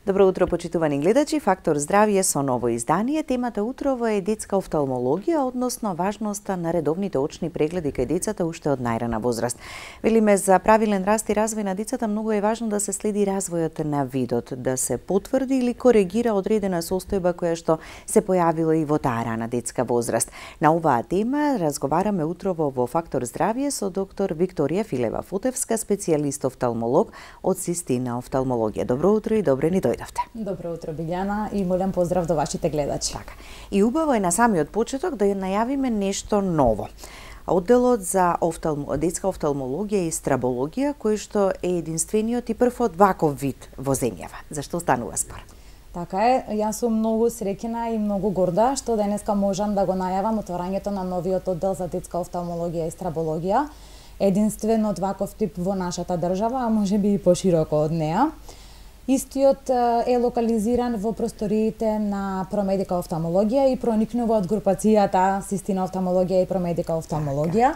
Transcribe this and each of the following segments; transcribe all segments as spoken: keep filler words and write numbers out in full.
Добро утро, почитувани гледачи. Фактор здравје со ново издание. Темата утрово е детска офталмологија, односно важноста на редовните очни прегледи кај децата уште од најрана возраст. Велиме, за правилен раст и развој на децата многу е важно да се следи развојот на видот, да се потврди или коригира одредена состојба која што се појавила и во таа рана детска возраст. На оваа тема разговараме утрово во Фактор здравје со доктор Викторија Филева-Фотевска, специјалист офталмолог од Систина офталмологија. Добро утро и добре ни дојдовте. Добро утро, Билјана, и молем поздрав до вашите гледачи. Така. И убаво е на самиот почеток да ја најавиме нешто ново. Одделот за офталм... детска офталмологија и страбологија, кој што е единствениот и прв од ваков вид во земјава. Зашто станува спор? Така е, јас сум многу среќна и многу горда што денеска можам да го најавам отворањето на новиот оддел за детска офталмологија и страбологија, единствен од ваков тип во нашата држава, а можеби и пошироко од неа. Истиот е локализиран во просториите на Промедика офталмологија и проникнува од групацијата Систина офталмологија и Промедика офталмологија.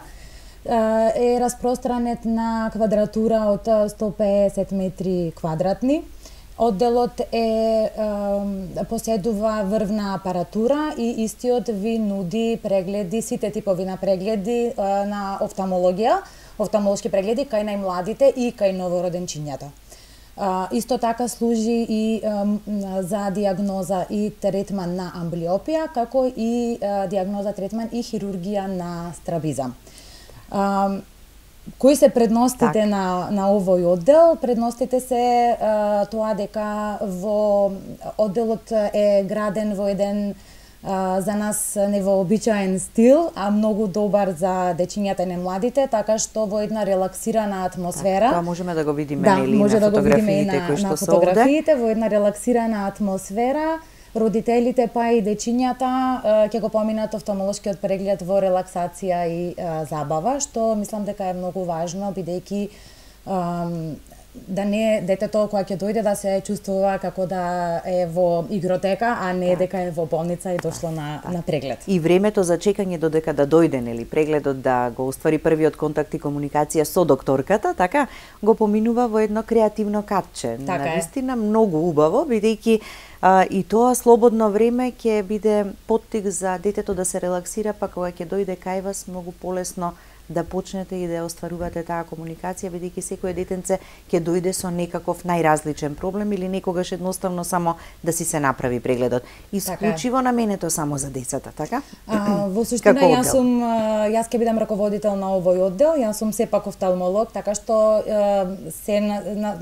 Е распространет на квадратура од сто пеесет метри квадратни. Одделот е, поседува врвна апаратура и истиот ви нуди прегледи, сите типови на прегледи на офталмологија, офталмолошки прегледи кај најмладите и кај новороденчињата. Исто така служи и за диагноза и третман на амблиопија, како и диагноза, третман и хирургија на страбизам. Кои се предностите так. на, на овој оддел? Предностите се а, тоа дека во одделот е граден во еден а, за нас невообичаен стил, а многу добар за дечињата и младите, така што во една релаксирана атмосфера. Тоа можеме да го видиме да, нели може на да го видиме и на, кои што на се фотографиите, во една релаксирана атмосфера. Родителите па и дечињата ќе го поминат офталмолошкиот преглед во релаксација и а, забава, што мислам дека е многу важно, бидејќи да не детето кога ќе дојде да се чувствува како да е во игротека, а не дека е во болница и дошло на, на преглед. И времето за чекање додека да дојде нели прегледот, да го оствари првиот контакт и комуникација со докторката, така го поминува во едно креативно катче. Така Навистина многу убаво, бидејќи А, и тоа слободно време ќе биде поттик за детето да се релаксира, па кога ќе дојде кај вас многу полесно да почнете и да остварувате таа комуникација, бидејќи секој детенце ќе дојде со некаков најразличен проблем или некогаш едноставно само да си се направи прегледот. Исклучиво наменето само за децата, така? А, во суштина јас сум јас ќе бидам раководител на овој оддел, јас сум сепак офталмолог, така што се на, на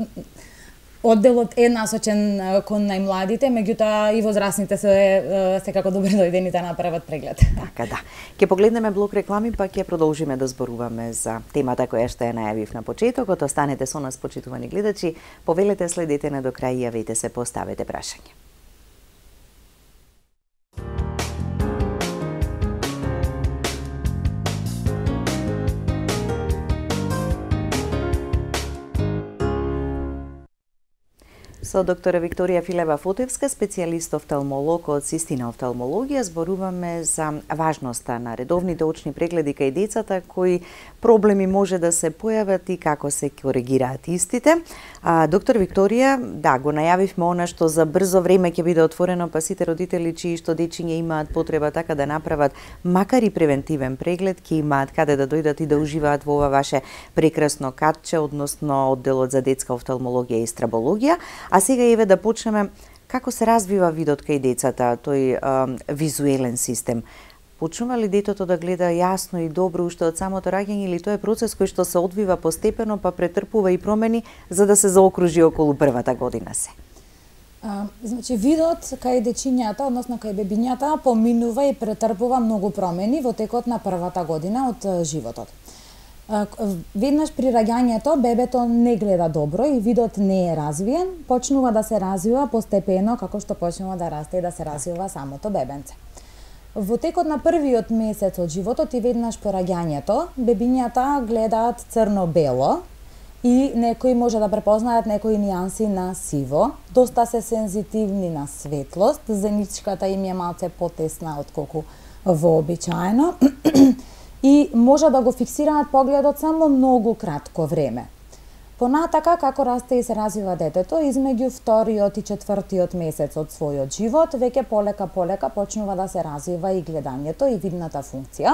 одделот е насочен кон најмладите, меѓутоа и возрастните се секако добре дојдени да направат преглед. Така да. Ќе погледнеме блок реклами, па ќе продолжиме да зборуваме за темата која што ја најавив на почетокот. Останете со нас, почитувани гледачи. Повелете, следете на до крај и јавете се, поставете прашање. Со доктора Викторија Филева-Фотевска, специјалист офталмолог од Систина офталмологија, зборуваме за важноста на редовните очни прегледи кај децата, кои проблеми може да се појават и како се коригираат истите. А, доктор Викторија, да, го најавивме она што за брзо време ќе биде отворено, па сите родители чии што дечиња имаат потреба така да направат макар и превентивен преглед, ќе имаат каде да дојдат и да уживаат во ова ваше прекрасно катче, односно одделот за детска офталмологија и страбологија. А сега еве да почнеме како се развива видот кај децата, тој а, визуелен систем. Почнува ли детето да гледа јасно и добро уште од самото раѓање, или тоа е процес кој што се одвива постепено, па претрпува и промени за да се заокружи околу првата година се? А, значи, видот кај дечињата, односно кај бебињата, поминува и претрпува многу промени во текот на првата година од животот. Веднаш при раѓањето бебето не гледа добро и видот не е развиен, почнува да се развива постепено како што почнува да расте и да се развива самото бебенце. Во текот на првиот месец од животот и веднаш по раѓањето, бебињата гледаат црно-бело и некои може да препознаат некои нијанси на сиво, доста се сензитивни на светлост, зеничката им е малце потесна отколку вообичаено и може да го фиксираат погледот само многу кратко време. Понатака, како расте и се развива детето, измеѓу вториот и четвртиот месец од својот живот, веќе полека полека почнува да се развива и гледањето и видната функција.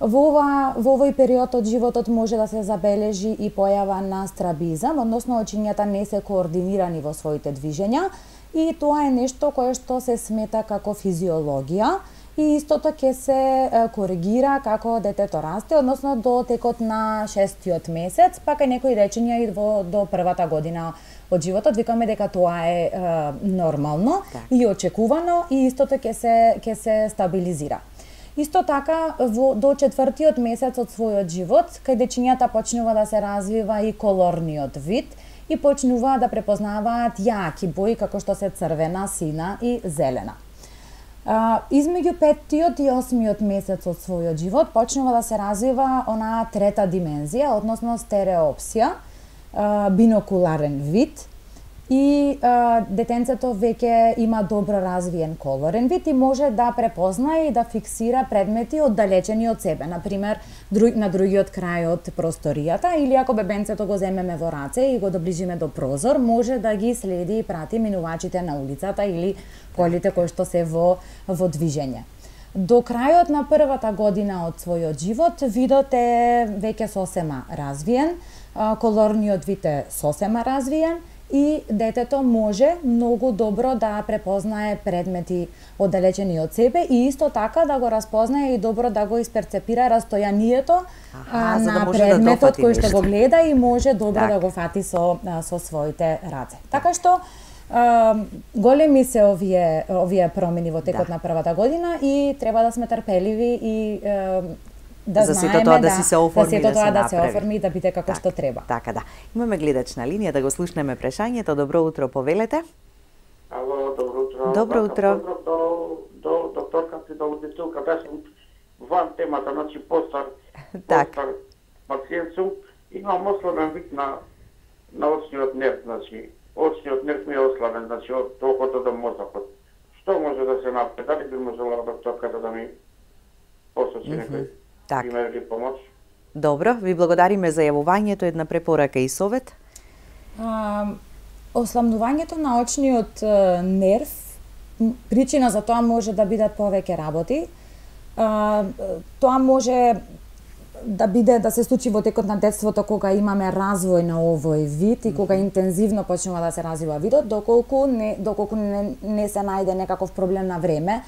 Во, ова, во овој период од животот може да се забележи и појава на страбизам, односно очињата не се координирани во своите движења, и тоа е нешто кое што се смета како физиологија, и истото ќе се коригира како детето расте, односно до текот на шестиот месец, па кај некои речења и во, до првата година од животот. Викаме дека тоа е, е нормално так. И очекувано, и истото ќе се ќе се стабилизира. Исто така, во, до четвртиот месец од својот живот, кај дечињата почнува да се развива и колорниот вид и почнува да препознаваат јаки бои како што се црвена, сина и зелена. А, измеѓу петтиот и осмиот месец од својот живот почнува да се развива онаа трета димензија, односно стереопсија, а, бинокуларен вид, и а, детенцето веќе има добро развиен колорен вид и може да препознае и да фиксира предмети оддалечени од себе, например друг, на другиот крај од просторијата, или ако бебенцето го земеме во раце и го доближиме до прозор, може да ги следи и прати минувачите на улицата или колите кои што се во, во движење. До крајот на првата година од својот живот, видот е веќе сосема развиен, колорниот вид е сосема развиен, и детето може многу добро да препознае предмети оддалечени од себе и исто така да го распознае и добро да го исперцепира растојанието Аха, на да предметот да кој што го гледа и може добро так. Да го фати со, со своите раце. Така што а, големи се овие, овие промени во текот да. На првата година и треба да сме трпеливи и а, да за сето тоа да, да си се оформи, да сето тоа да, да се оформи и да биде како так, што треба. Така да. Имаме гледач на линија, да го слушнеме прашањето. Добро утро, повелете. Ало, добро утро. Добро утро. Поздрав до, до докторката и до аудиторката. Јас сум ван темата, значи постар, так. постар пациент сум. Имам ослабен вид на, на очниот нерв, значи очниот нерв ми е ослабен, значи од окото до мозокот. Што може да се направи? Дали би можела докторката да ми посочи mm -hmm. некој? Так. Пример или помош? Добро, ви благодариме за јавувањето, една препорака и совет. А, осламнувањето на очниот е, нерв, причина за тоа може да бидат повеќе работи. А, тоа може да биде да се случи во текот на детството кога имаме развој на овој вид и кога интензивно почнува да се развива видот, доколку не доколку не, не се најде некаков проблем на време,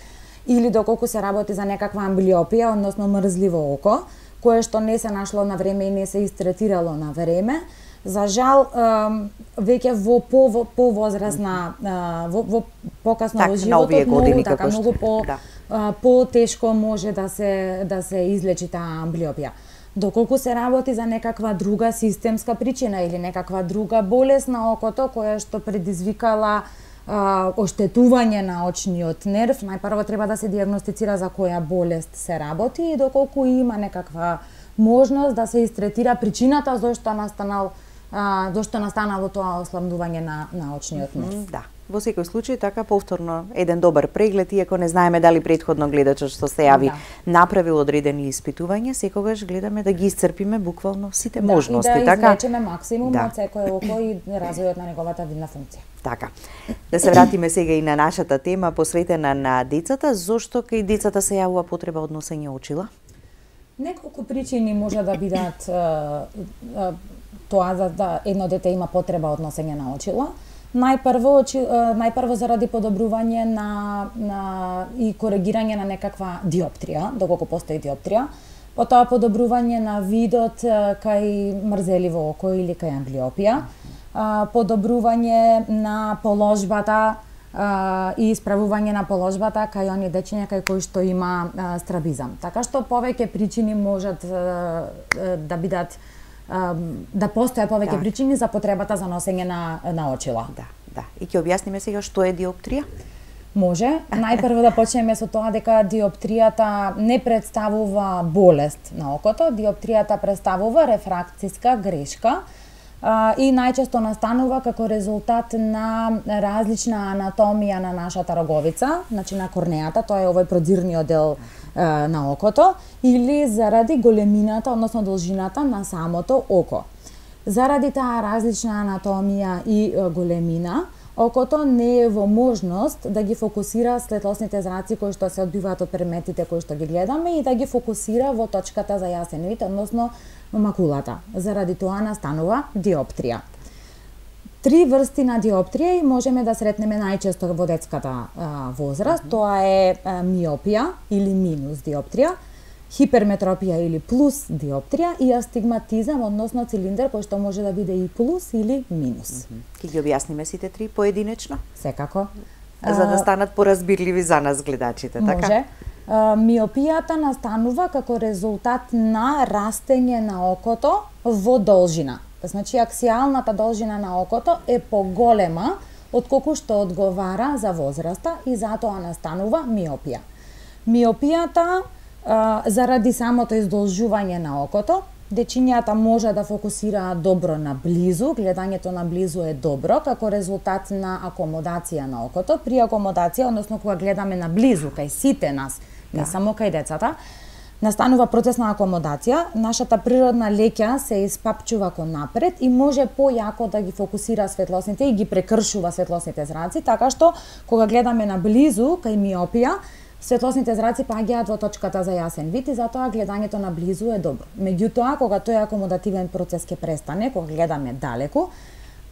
или доколку се работи за некаква амблиопија, односно мрзливо око, кое што не се нашло на време и не се истретирало на време. За жал, веќе во по повозрасна, во, во покасно так, во животот, многу, така, многу по, да. по-тешко може да се, да се излечи таа амблиопија. Доколку се работи за некаква друга системска причина или некаква друга болест на окото, која што предизвикала Uh, оштетување на очниот нерв, најпрво треба да се дијагностицира за која болест се работи и доколку има некаква можност да се истретира причината зошто настанал uh, зошто настанало тоа ослабнување на на очниот нерв. Mm, да. Во секој случај така повторно еден добар преглед, иако не знаеме дали претходно гледачот што се јави да. Направил одредени испитувања, секогаш гледаме да ги исцрпиме буквално сите да, можности, и да така? извлечеме максимум да. Од секој око и развојот на неговата видна функција. Така. Да се вратиме сега и на нашата тема посветена на децата, зошто кај децата се јавува потреба од носење очила? Неколку причини може да бидат тоа за да едно дете има потреба од носење на очила. Најпрво, најпрво заради подобрување на, на и коригирање на некаква диоптрија, доколку постои диоптрија, потоа подобрување на видот кај мрзеливо око или кај амблиопија, подобрување на положбата и исправување на положбата кај оние дечиња кај кои што има страбизам. Така што повеќе причини можат да бидат да постојат повеќе да. Причини за потребата за носење на, на очила. Да, да. И ќе објасниме сега што е диоптрија? Може. Најпрво да почнеме со тоа дека диоптријата не представува болест на окото, диоптријата представува рефракциска грешка а, и најчесто настанува како резултат на различна анатомија на нашата роговица, значи на корнеата, тоа е овој продзирниот дел на окото, или заради големината, односно должината на самото око. Заради таа различна анатомија и големина, окото не е во можност да ги фокусира светлосните зраци кои што се одбиваат од предметите кои што ги гледаме и да ги фокусира во точката за јасен вид, односно макулата. Заради тоа настанува диоптрија. Три врсти на диоптрија и можеме да сретнеме најчесто во детската а, возраст. Mm -hmm. Тоа е а, миопија или минус диоптрија, хиперметропија или плюс диоптрија и астигматизам, односно цилиндер кој што може да биде и плюс или минус. Mm -hmm. Ке ги објасниме сите три поединечно? Секако. За да станат поразбирливи за нас гледачите, така? Може. А, миопијата настанува како резултат на растење на окото во должина. Значи, аксијалната должина на окото е поголема од колку што одговара за возраста и затоа настанува миопија. Миопијата, а, заради самото издолжување на окото, дечињата може да фокусираат добро на близу, гледањето на близу е добро како резултат на акомодација на окото. При акомодација, односно кога гледаме на близу кај сите нас, да. Не само кај децата, настанува процес на акомодација, нашата природна леќа се испапчува кон напред и може појако да ги фокусира светлосните и ги прекршува светлосните зраци, така што кога гледаме на близу кај миопија, светлосните зраци паѓаат во точката за јасен вид и затоа гледањето на близу е добро. Меѓутоа, кога тој акомодативен процес ќе престане, кога гледаме далеку,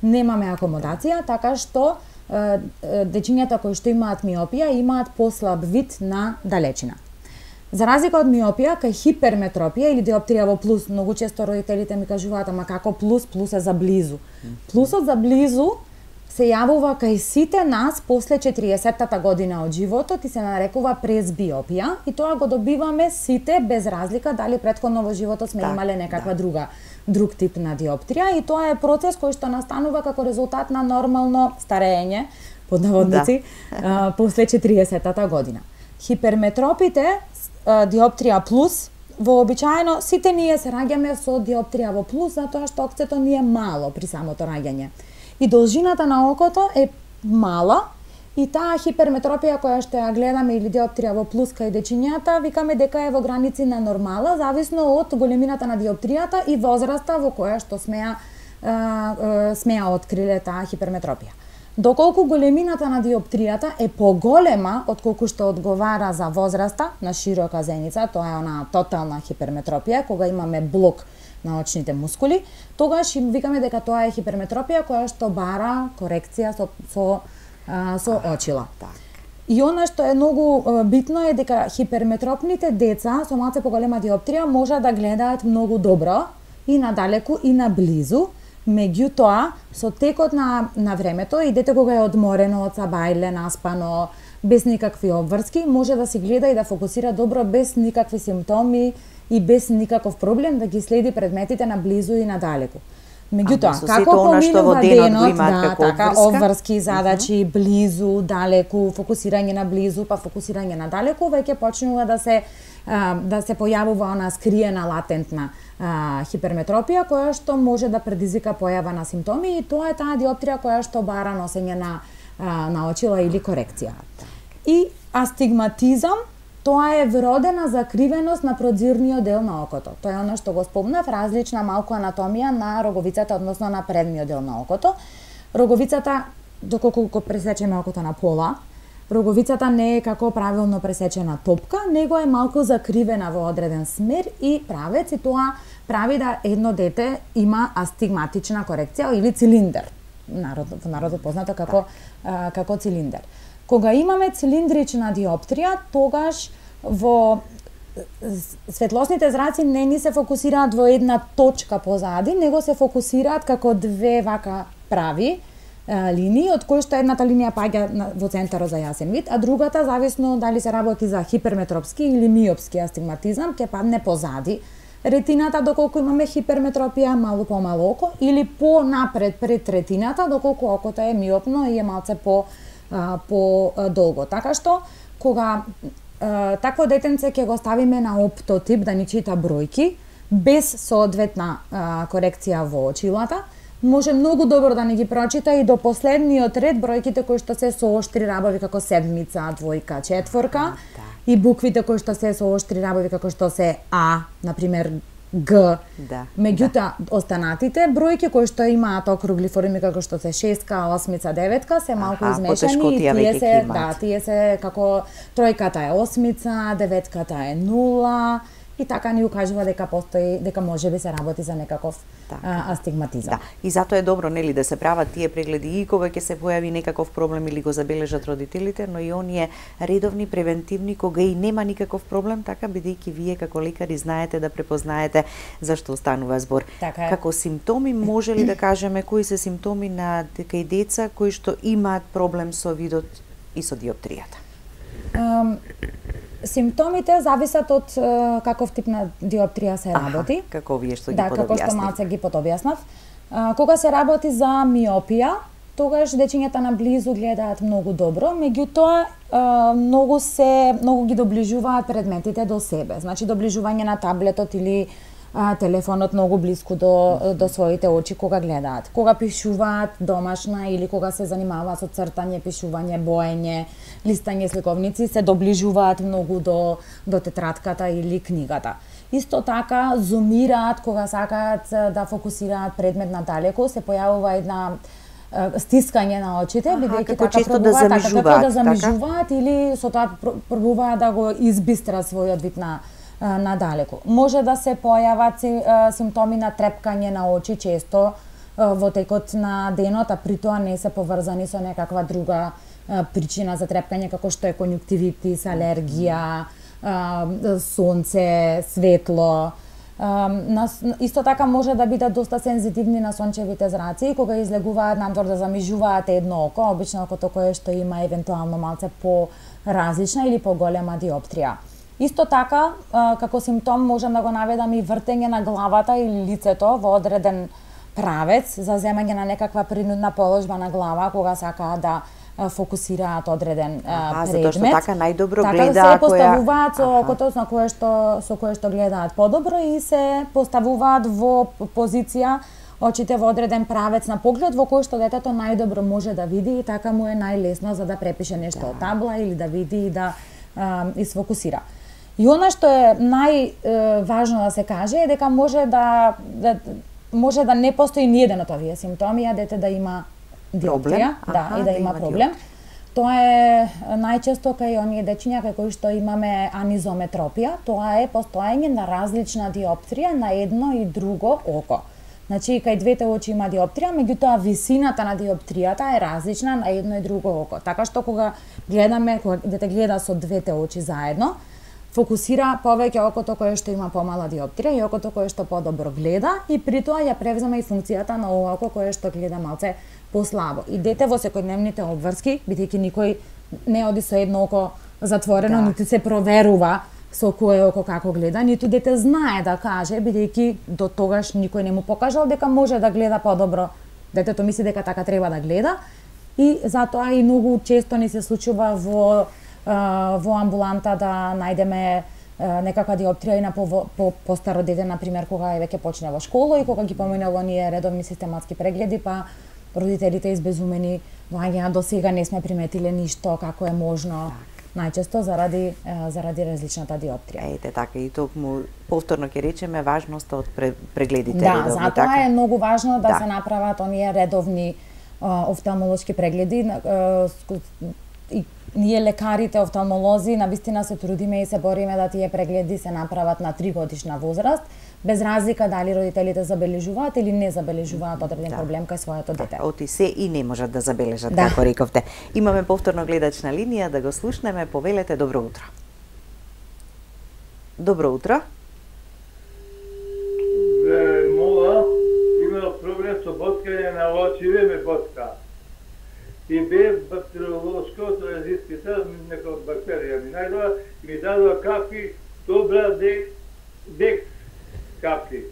немаме акомодација, така што е, дечињата кои што имаат миопија имаат послаб вид на далечина. За разлика од миопија, кај хиперметропија или диоптрија во плюс, многу често родителите ми кажуваат, ама како плюс, плюс е за близу. Плюсот за близу се јавува кај сите нас после четириесеттата година од животот и се нарекува презбиопија и тоа го добиваме сите без разлика дали претходно во животот сме да, имале некаква да. друга друг тип на диоптрија и тоа е процес кој што настанува како резултат на нормално старење под наводници да. после четириесеттата година. Хиперметропите диоптрија плюс, вообичаено сите ние се раѓаме со диоптрија во плюс затоа што окцето ни е мало при самото раѓање. И должината на окото е мала и таа хиперметропија која што ја гледаме или диоптрија во плюс кај дечињата, викаме дека е во граници на нормала, зависно од големината на диоптријата и возраста во која што смеа смеа откриле таа хиперметропија. Доколку големината на диоптријата е поголема од колку што одговара за возраста на широка зеница, тоа е она тотална хиперметропија, кога имаме блок на очните мускули, тогаш им викаме дека тоа е хиперметропија која што бара корекција со со, а, со очила. И она што е многу битно е дека хиперметропните деца со малце поголема диоптрија може да гледаат многу добро и надалеку и наблизу. Меѓутоа, со текот на, на времето и дете кога е одморено од сабајле, наспано, без никакви обврски, може да си гледа и да фокусира добро без никакви симптоми и без никаков проблем да ги следи предметите наблизу и надалеку. Меѓутоа, како поминува денот, да, така, обврски, задачи, близу, далеку, фокусирање на близу, па фокусирање на далеку, веќе почнува да се да се појавува она скриена латентна а, хиперметропија која што може да предизвика појава на симптоми и тоа е таа диоптрија која што бара носење на а, на очила или корекција. И астигматизам, тоа е вродена закривеност на продзирниот дел на окото. Тоа е она што го спомнав, различна малку анатомија на роговицата, односно на предниот дел на окото. Роговицата, доколку го пресечеме окото на пола, роговицата не е како правилно пресечена топка, него е малку закривена во одреден смер и правец и тоа прави да едно дете има астигматична корекција или цилиндер. Народ, во народот познато како, а, како цилиндер. Кога имаме цилиндрична диоптрија, тогаш во светлосните зраци не ни се фокусираат во една точка позади, него се фокусираат како две вака прави линии, од кои што едната линија паѓа во центарот за јасен вид, а другата, зависно дали се работи за хиперметропски или миопски астигматизам, ќе падне позади ретината, доколку имаме хиперметропија, малку помало око, или понапред пред ретината, доколку окото е миопно и е малце по по долго. Така што кога а, такво детенце ќе го ставиме на оптотип да ни чита бројки без соодветна а, корекција во очилата, може многу добро да ни ги прочита и до последниот ред бројките кои што се со оштри рабови како седмица, двојка, четворка и буквите кои што се со оштри рабови како што се А, на пример Г. Да. Меѓутоа, да. останатите бројки кои што имаат округли форми како што се шестка, осмица, деветка се малку Аха, измешани и тие се, да, да, тие се како тројката е осмица, деветката е нула и така ни укажува дека постои, дека можеби се работи за некаков а, астигматизам. Да. И затоа е добро нели да се прават тие прегледи и кога ќе се појави некаков проблем или го забележат родителите, но и оние редовни превентивни кога и нема никаков проблем, така бидејќи вие како лекари знаете да препознаете зашто станува збор. Така е. Како симптоми може ли да кажеме кои се симптоми на кај деца кои што имаат проблем со видот и со диоптријата? Um, Симптомите зависат од uh, каков тип на диоптрија се работи. Аха, како вие што ги да, подобјаснив. како што малце ги подобјаснав. Uh, кога се работи за миопија, тогаш дечињата наблизу гледаат многу добро, меѓутоа uh, многу се многу ги доближуваат предметите до себе. Значи доближување на таблетот или а, телефонот многу блиску до, до своите очи кога гледаат. Кога пишуваат домашна или кога се занимаваат со цртање, пишување, боење, листање сликовници, се доближуваат многу до, до тетрадката или книгата. Исто така, зумираат кога сакаат да фокусираат предмет надалеку, се појавува една стискање на очите, бидејќи така пробуваат, да така, како да замижуваат така? Или со тоа пробуваат да го избистрат својот вид на надалеку. Може да се појават симптоми на трепкање на очи често во текот на денот, а при тоа не се поврзани со некаква друга причина за трепкање, како што е конјуктивитис, алергија, сонце, светло. Исто така може да бидат доста сензитивни на сончевите зраци, кога излегуваат надвор да замижуваат едно око, обично окото кое што има евентуално малце по-различна или поголема диоптрија. Исто така, како симптом можам да го наведам и вртење на главата или лицето во одреден правец за земање на некаква принудна положба на глава кога сакаат да фокусираат одреден а, предмет. Затоа што така најдобро така гледа се поставуваат која... со окото на кое што со кое што гледаат подобро и се поставуваат во позиција очите во одреден правец на поглед во кој што детето најдобро може да види и така му е најлесно за да препише нешто од табла или да види и да а, изфокусира. И она што е најважно да се каже е дека може да, да може да не постои ниеден од овие симптоми, а дете да има диоптрија, да, и да, да има проблем. Диоптрија. Тоа е најчесто кај оние дечиња кај кои што имаме анизометропија, тоа е постоење на различна диоптрија на едно и друго око. Значи, кај двете очи има диоптрија, меѓутоа висината на диоптријата е различна на едно и друго око. Така што кога гледаме, кога дете гледа со двете очи заедно, фокусира повеќе окото кое што има помала диоптрија и окото кое што подобро гледа и при тоа ја превзема и функцијата на ова око кое што гледа малце послабо. И дете во секојдневните обврски, бидејќи никој не оди со едно око затворено, да. Ниту се проверува со кое око како гледа, ниту дете знае да каже, бидејќи до тогаш никој не му покажал дека може да гледа подобро. Детето мисли дека така треба да гледа и затоа и многу често ни се случува во во амбуланта да најдеме некаква диоптрија и на по, по, по старо дете, например, кога е веќе почне во школа и кога ги поминува оние редовни систематски прегледи, па родителите избезумени, ваѓа до сега не сме приметиле ништо, како е можно, најчесто заради заради различната диоптрија. Ете така и токму повторно ќе речеме важноста од прегледите да, редовни. Да, затоа така? Е многу важно да, да се направат оние редовни офталмолошки прегледи и ние лекарите, офталмолози, навистина се трудиме и се бориме да тие прегледи се направат на три годишна возраст, без разлика дали родителите забележуваат или не забележуваат одреден да. проблем кај своето дете. Оти се и не можат да забележат, да. како рековте. Имаме повторно гледач на линија, да го слушнеме, повелете, добро утро. Добро утро. Бе, мола, има проблем со боткање на очиве, ме ботка. И бе бактериолошкото резистите, нека бактерија ми најдоа и ми дадоа капки, добра дек, дек капки.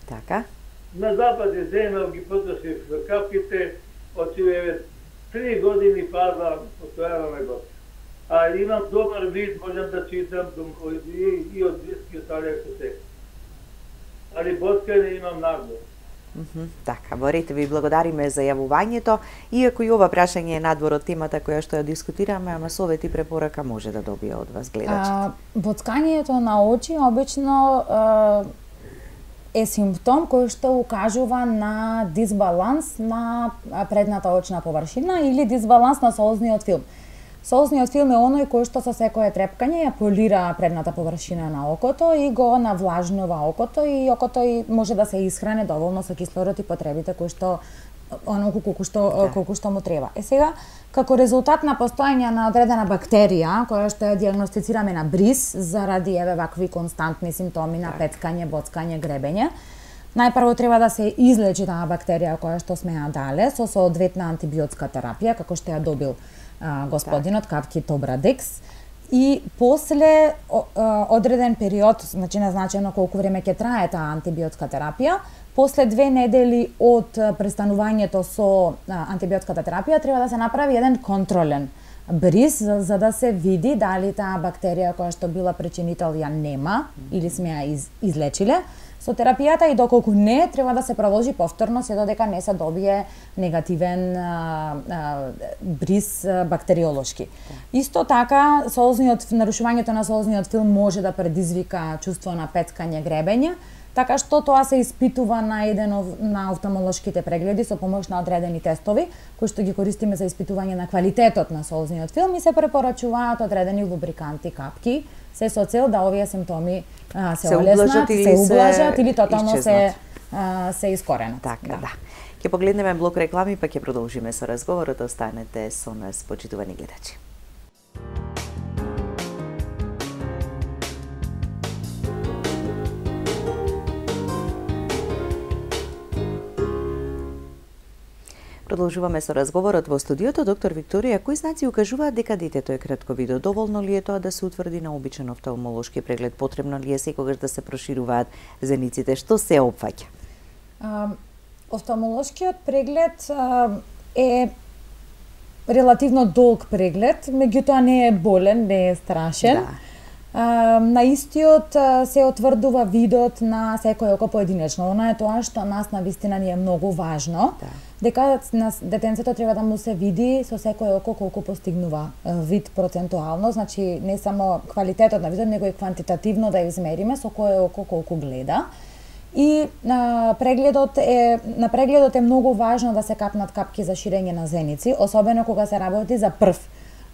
Така. На запад е земел ги потрошив капките, очиве три години паза, постојаваме го. А имам добар вид, можам да читам и, и од близки остали ако се. Али боткање имам нагло. Mm -hmm. Така, борите ви благодариме за јавувањето, иако и ова прашање е надвор од темата која што ја дискутираме, ама совет и препорака може да добие од вас гледачите. Боцкањето на очи обично а, е симптом кој што укажува на дисбаланс на предната очна површина или дисбаланс на солзниот филм. Солзниот филм е оној кој што со секое трепкање ја полира предната површина на окото и го навлажнува окото и окото и може да се исхране доволно со кислород и потребите кои што онолку колку што да. колку што му треба. Е сега како резултат на постоење на одредена бактерија која што ја дијагностицираме на бриз заради еве вакви константни симптоми на петкање, боцкање, гребење, најпрво треба да се излечи таа бактерија која што сме ја дале со соодветна антибиотска терапија како што ја добил а, господинот Капки Тобрадекс. И после одреден период, значи назначено колку време ќе трае таа антибиотска терапија, после две недели од престанувањето со антибиотската терапија треба да се направи еден контролен бриз за, за да се види дали таа бактерија која што била причинител ја нема или сме ја из, излечиле со терапијата и доколку не, треба да се продолжи повторно се додека не се добие негативен а, а, бриз а, бактериолошки. Да. Исто така, солзниот нарушувањето на солзниот филм може да предизвика чувство на петкање, гребење, така што тоа се испитува на еден на офталмолошките прегледи со помош на одредени тестови кои што ги користиме за испитување на квалитетот на солзниот филм и се препорачуваат одредени лубриканти, капки, се со цел да овие симптоми а, се, се олеснат, се ублажат или тотално се а, се искоренат. Така, да. да. Ќе погледнеме блок реклами па ќе продолжиме со разговорот. Останете со нас, почитувани гледачи. Продолжуваме со разговорот во студиото. Доктор Викторија, кои знаци укажуваат дека детето е кратковидо? Доволно ли е тоа да се утврди на обичен офталмолошки преглед? Потребно ли е секогаш да се прошируваат зениците? Што се опфаќа? Офталмолошкиот преглед а, е релативно долг преглед, меѓутоа не е болен, не е страшен. Да. Uh, на истиот uh, се отврдува видот на секој око поединечно. Она е тоа што нас на вистина ни е многу важно, да. дека на детенцето треба да му се види со секој око колку постигнува uh, вид процентуално, значи не само квалитетот на видот, него и квантитативно да измериме со кое око колку гледа. И uh, прегледот е на прегледот е многу важно да се капнат капки за ширење на зеници, особено кога се работи за прв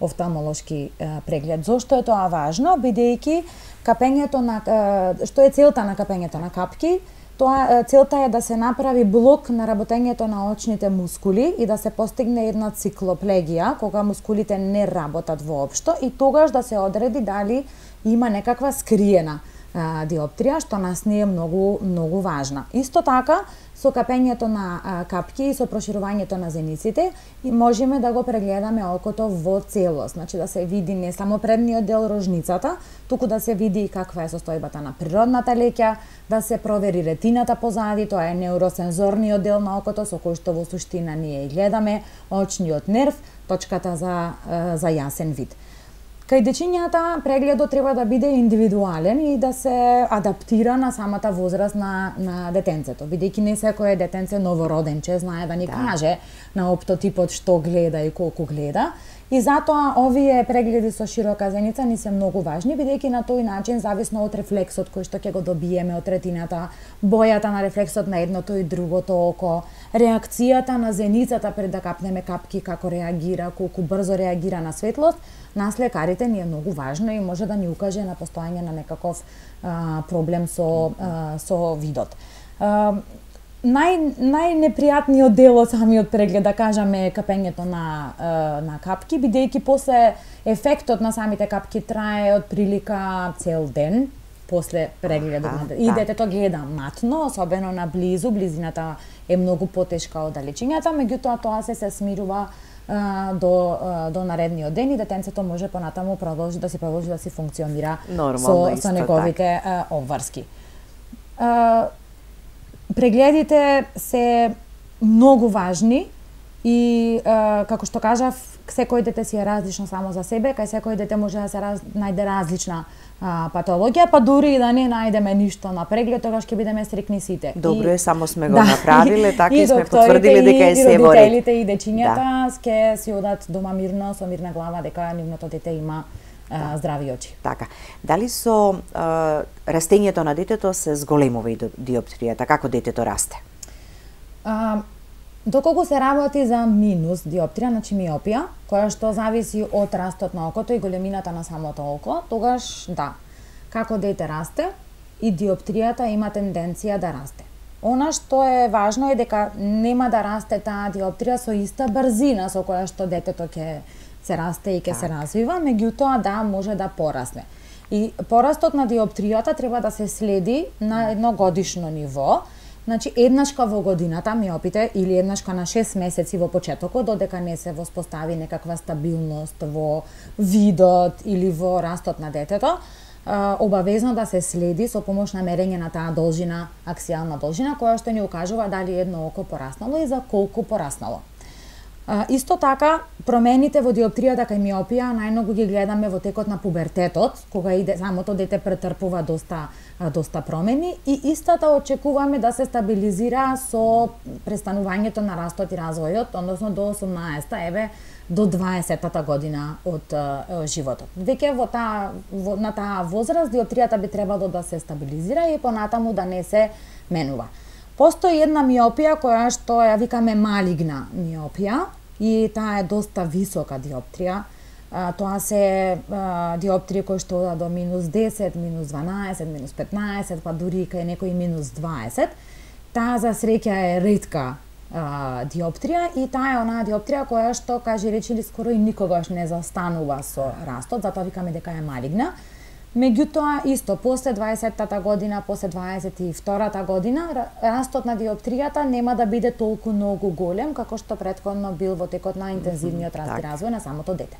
офталмолошки е, преглед. Зошто е тоа важно? Бидејќи капењето на е, што е целта на капењето на капки? Тоа е, целта е да се направи блок на работењето на очните мускули и да се постигне една циклоплегија, кога мускулите не работат воопшто и тогаш да се одреди дали има некаква скриена а, диоптрија, што нас не е многу многу важна. Исто така, со капењето на а, капки и со проширувањето на зениците и можеме да го прегледаме окото во целост, значи да се види не само предниот дел рожницата, туку да се види каква е состојбата на природната леќа, да се провери ретината позади, тоа е неуросензорниот дел на окото со кој што во суштина ние гледаме, очниот нерв, точката за за јасен вид. Кај дечињата прегледот треба да биде индивидуален и да се адаптира на самата возраст на, на детенцето, бидејќи не секој детенце новороденче знае да ни да. каже на оптотипот што гледа и колку гледа. И затоа овие прегледи со широка зеница ни се многу важни, бидејќи на тој начин, зависно од рефлексот кој што ќе го добиеме од ретината, бојата на рефлексот на едното и другото око, реакцијата на зеницата пред да капнеме капки, како реагира, колку брзо реагира на светлост, нас лекарите ни е многу важно и може да ни укаже на постојање на некаков а, проблем со, а, со видот. А, Нај, најнепријатниот дел од самиот преглед, да кажаме, капењето на, на капки, бидејќи после ефектот на самите капки трае од прилика цел ден, после прегледот. А, и да. детето гледа матно, особено на близу, близината е многу потешка од далечињата, меѓутоа тоа се се смирува а, до, а, до наредниот ден и детенцето може понатаму продолжи да се продолжи да се функционира Нормално, со, со неговите а, обврски. А, Прегледите се многу важни и, е, како што кажав, секој дете си е различно само за себе, кај секој дете може да се раз, најде различна а, патологија, па дури и да не најдеме ништо на преглед, тогаш ќе бидеме стрикни сите. Добро и, е, само сме го да, направиле, така и, и сме потврдили дека е се во ред. И родителите и дечињата ќе да. си одат дома мирно, со мирна глава, дека нивното дете има а, здрави очи. Така. Дали со а, растењето на детето се зголемува и диоптријата? Како детето расте? А, доколку се работи за минус диоптрија, значи миопија, која што зависи од растот на окото и големината на самото око, тогаш да, како дете расте и диоптријата има тенденција да расте. Она што е важно е дека нема да расте таа диоптрија со иста брзина со која што детето ќе се расте и ќе се развива, меѓутоа да може да порасне. И порастот на диоптријата треба да се следи на едно годишно ниво. Значи, еднашка во годината миопите или еднашка на шест месеци во почетокот, додека не се воспостави некаква стабилност во видот или во растот на детето, обавезно да се следи со помош на мерење на таа должина, аксијална должина, која што ни укажува дали едно око пораснало и за колку пораснало. А, исто така, промените во диоптријата кај миопија најмногу ги гледаме во текот на пубертетот, кога и самото дете претрпува доста доста промени и истата очекуваме да се стабилизира со престанувањето на растот и развојот, односно до осумнаесетта, еве до дваесеттата година од е, животот. Веќе во таа во, на таа возраст диоптријата би требало да се стабилизира и понатаму да не се менува. Постои една миопија која што ја викаме малигна миопија и таа е доста висока диоптрија. А, тоа се а, диоптрии кои што одат до минус десет, минус дванаесет, минус петнаесет, па дури кај некои минус дваесет. Таа за среќа е ретка а, диоптрија и таа е онаа диоптрија која што, кажи речи, скоро и никогаш не застанува со растот, затоа викаме дека е малигна. Меѓутоа, исто, после дваесеттата година, после дваесет и втората година, растот на диоптријата нема да биде толку многу голем, како што претходно бил во текот на интензивниот раст и развој на самото дете.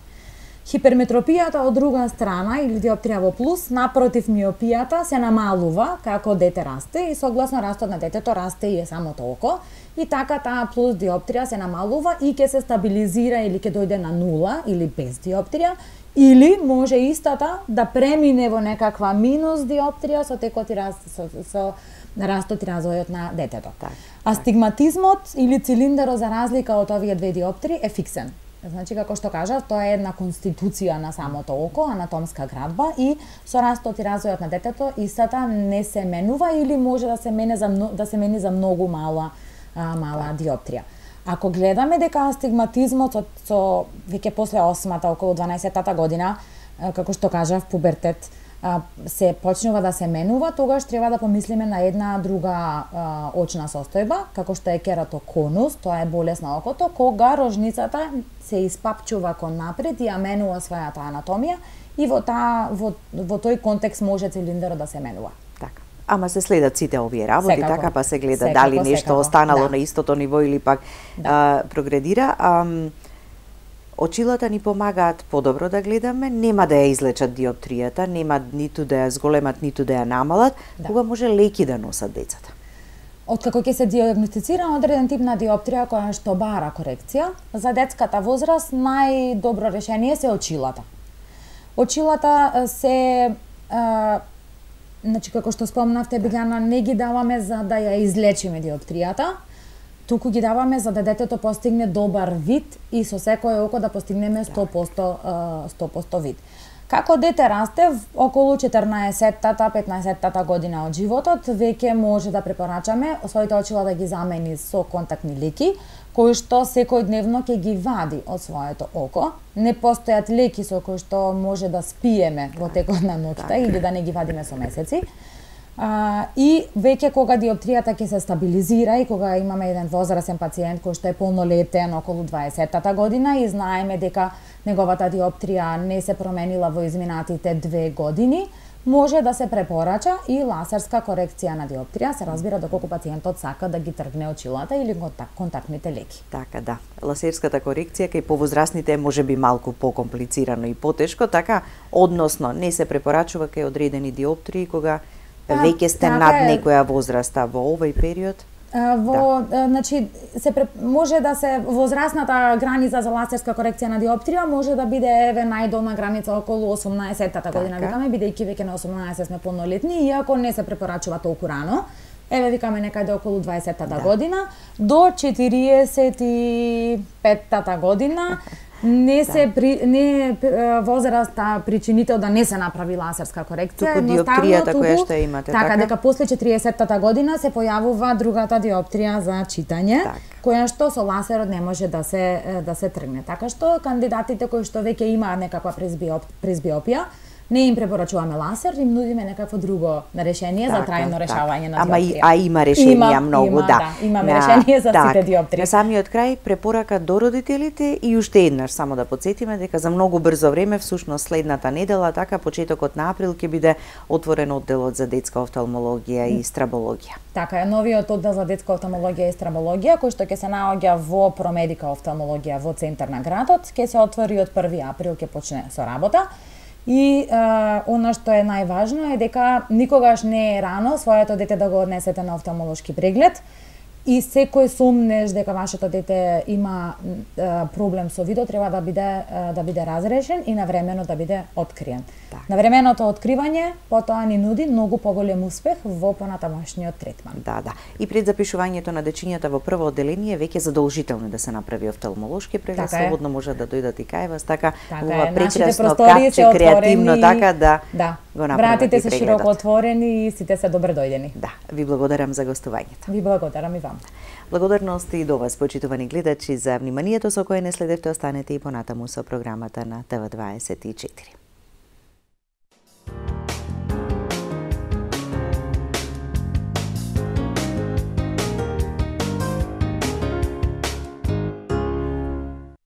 Хиперметропијата од друга страна, или диоптрија во плюс, напротив миопијата, се намалува како дете расте и согласно растот на детето расте и е самото око, и така таа плюс диоптрија се намалува и ќе се стабилизира или ќе дојде на нула или без диоптрија, или може истата да премине во некаква минус диоптрија со текот и раст, со, со растот и развојот на детето. Так, Астигматизмот или цилиндерот, за разлика од овие две диоптрии, е фиксен. Значи, како што кажав, тоа е една конституција на самото око, анатомска градба, и со растот и развојот на детето истата не се менува или може да се мене за да се мени за многу мала а, мала диоптрија. Ако гледаме дека астигматизмот со, со веќе после осмата, околу дванаесеттата година, како што кажав, пубертет, се почнува да се менува, тогаш треба да помислиме на една друга а, очна состојба, како што е кератоконус, тоа е болест на окото, кога рожницата се испапчува кон напред и ја менува својата анатомија и во, та, во, во тој контекст може цилиндерот да се менува. Така. Ама се следат сите овие работи, секако, така, па се гледа секако, дали нешто секако, останало да. на истото ниво или пак да. а, прогредира. А, очилата ни помагаат подобро да гледаме, нема да ја излечат диоптријата, нема ниту да ја зголемат, ниту да ја намалат, да. Кога може леки да носат децата. Откако ќе се диагностицира одреден тип на диоптрија која што бара корекција, за детската возраст најдобро решение се очилата. Очилата се а, значи како што спомнавте, Билјана, не ги даваме за да ја излечиме диоптријата, туку ги даваме за да детето постигне добар вид и со секое око да постигнеме сто проценти, сто проценти вид. Како дете расте, околу четрнаесеттата, петнаесеттата година од животот, веќе може да препорачаме своите очила да ги замени со контактни леки, кои што секојдневно ќе ги вади од своето око. Не постојат леки со кои што може да спиеме во текот на ноќта или да не ги вадиме со месеци. А, и веќе кога диоптријата ќе се стабилизира и кога имаме еден возрастен пациент кој што е полнолетен, околу дваесеттата година, и знаеме дека неговата диоптрија не се променила во изминатите две години, може да се препорача и лазерска корекција на диоптрија, се разбира доколку пациентот сака да ги тргне очилата или контактните леки. Така, да. Лазерската корекција кај повозрастните може би малку покомплицирано и потешко, така, односно не се препорачува кај одредени диоптрии кога веќе сте така над е, некоја возраста во овој период. Во, да. Значи, се може да се возрастната граница за лазерска корекција на диоптрија може да биде еве најдолна граница околу осумнаесеттата година, така. Викаме, бидејќи веќе на осумнаесет сме полнолетни, иако не се препорачува толку рано. Еве викаме некаде околу дваесеттата да. година до четириесет и петтата година. Не се да. при, не возраста причинител да не се направи лазерска корекција, туку диоптријата која што имате, така, така дека после четиридесеттата година се појавува другата диоптрија за читање, так. која што со лазерот не може да се да се тргне. Така што кандидатите кои што веќе имаат некаква презбиопија, не им препорачуваме лазер, им нудиме некакво друго решение така, за трајно решавање така. на диоптрија. Ама а има решенија има, многу, има, да. да. Имаме на, решение за так, сите диоптрии. На самиот крај препорака до родителите и уште еднаш само да потсетиме дека за многу брзо време, всушност следната недела, така почетокот на април ќе биде отворен одделот за детска офталмологија и страбологија. Така е, новиот оддел за детска офталмологија и страбологија, кој што ќе се наоѓа во Промедика офталмологија во центар на градот, ќе се отвори од први април, ќе почне со работа. И а, она што е најважно е дека никогаш не е рано своето дете да го однесете на офталмолошки преглед и секој сумнеш дека вашето дете има а, проблем со видот треба да биде а, да биде разрешен и навремено да биде откриен. Так. Навременото откривање потоа ни нуди многу поголем успех во понатамошниот третман. Да, да. И пред запишувањето на дечињата во прво одделение веќе задолжително да се направи офталмолошки преглед, така слободно може да дојдат и кај вас, така, така ова е. прекрасно катче, креативно, така да, да. го направите вратите се прегледот. широко отворени и сите се добре дојдени. Да, ви благодарам за гостувањето. Ви благодарам и вам. Благодарности и до вас, почитувани гледачи, за вниманието со кое не следевте. Останете и понатаму со програмата на Т В дваесет и четири.